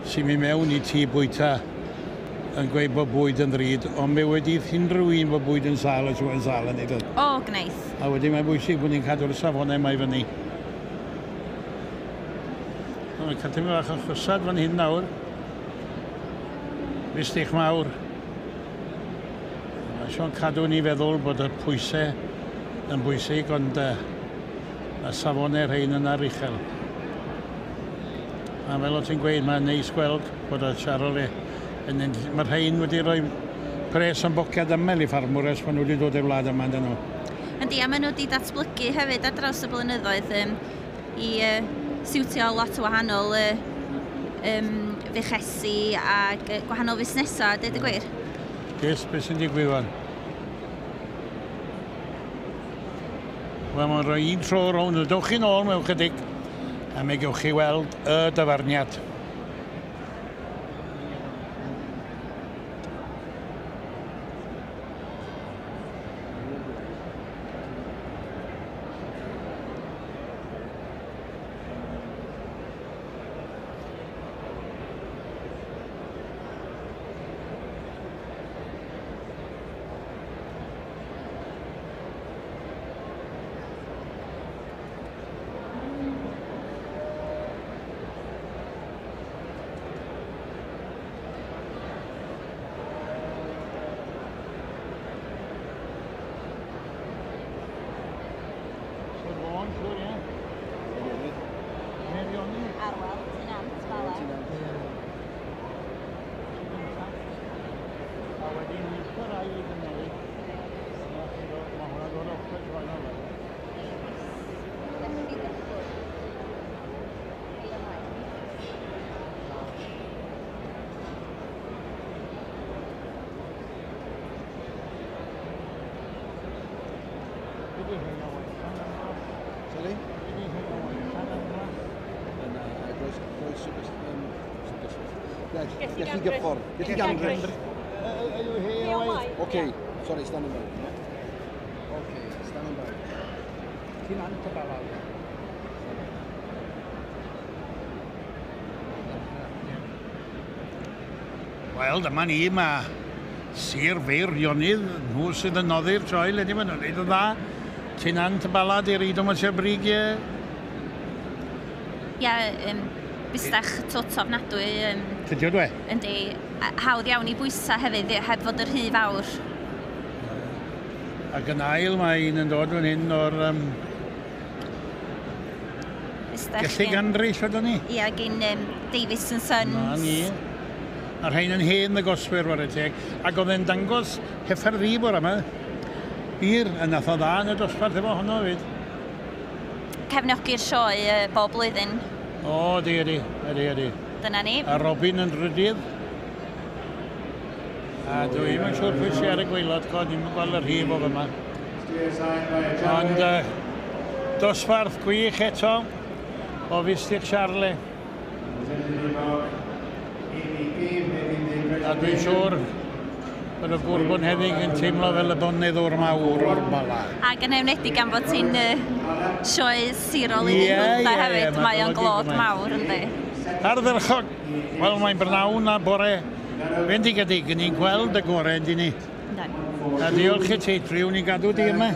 sy'n mynd mewn i tŷ bwyta yn gweud bod bwyd yn ddrud, ond mae wedi unrhyw un bod bwyd yn sâl os yw e'n sâl yn ei O, gneith. A wedyn mae'n bwysig bod ni'n cadw'r safonau yma i fyny. Mae'n cael tipyn bach o chwysad fan hyn nawr. Fistych mawr. Mae eisiau'n cadw ni feddwl bod y pwysau yn bwysig, ond mae safonau rhain yn aruchel. A fel o ti'n gweud, mae'n neis gweld bod y Charolais yn ennill. Mae rhain wedi rhoi pres am boced ymel i ffarmwr ers maen nhw wedi dod i'r wlad yma, ynddyn nhw. Yndi, a maen nhw wedi datblygu hefyd ar draws y blynyddoedd i siwtio lot o wahanol fuchesi ac gwahanol fusnesau, a dweud y gwir. Guess beth sy'n digwydd wan? Wel, mae'n rhoi un tro rownd. Dewch chi'n ôl mewn chydig a mi gewch chi weld y dyfarniad. Sir Fôn, siŵr, ie. Meirionnydd. Arwel, Tŷ Nant, Bala. A wedyn yr ail i gymryd. Mae hwnna'n dod off y gwahanol. Sorry? Gelli Gyffordd. Gelli Gandryll. Okay, sorry, standing by. Okay, standing by. Ti'n ant y Bala. Wel, dyma ni, mae Sir Feirionnydd, nhw sydd yn noddi'r sioe, le maen nhw'n neud yn dda. Tŷ Nant y Bala di reid o'n Sir Brig, ie. Ie, bustach twt ofnadwy. Tydio dwe? Yndi, hawdd iawn i bwysa hefyd, heb fod yr rhy fawr. Ac yn ail mae un yn dod fan hyn o'r Gelli Gandryll, oedden ni? Ie, gyn Davies and Sons. Na ni. A rhain yn hen y goswyr, whare teg. Ac oedd e'n dangos heffer ddi bore yma. Ir, a nath o dda yn y dosbarth efo honno hefyd. Cefnogi'r sioe bob blwyddyn. O, ydi, ydi, ydi, ydi. Dyna ni. A Robin yn drydydd. A dwi ddim yn siŵr pwy sy'n ar y gwaelod, co, ddim yn gweld y rhif o fyma. Ond dosbarth gwych eto o Fustych Charolais. A dwi'n siŵr bod y gŵr bonheddig yn teimlo fel y boneddwr mawr o'r Bala. Ac yn enwedig am fod ti'n sioe sirol iddyn nhw hefyd, mae o'n glod mawr, yndi. Ardderchog! Wel, mae'n brynawn a bore fendigedig, ni'n gweld y gorau, yndyn ni. A diolch i ti, triwn ni'n gadw di yma.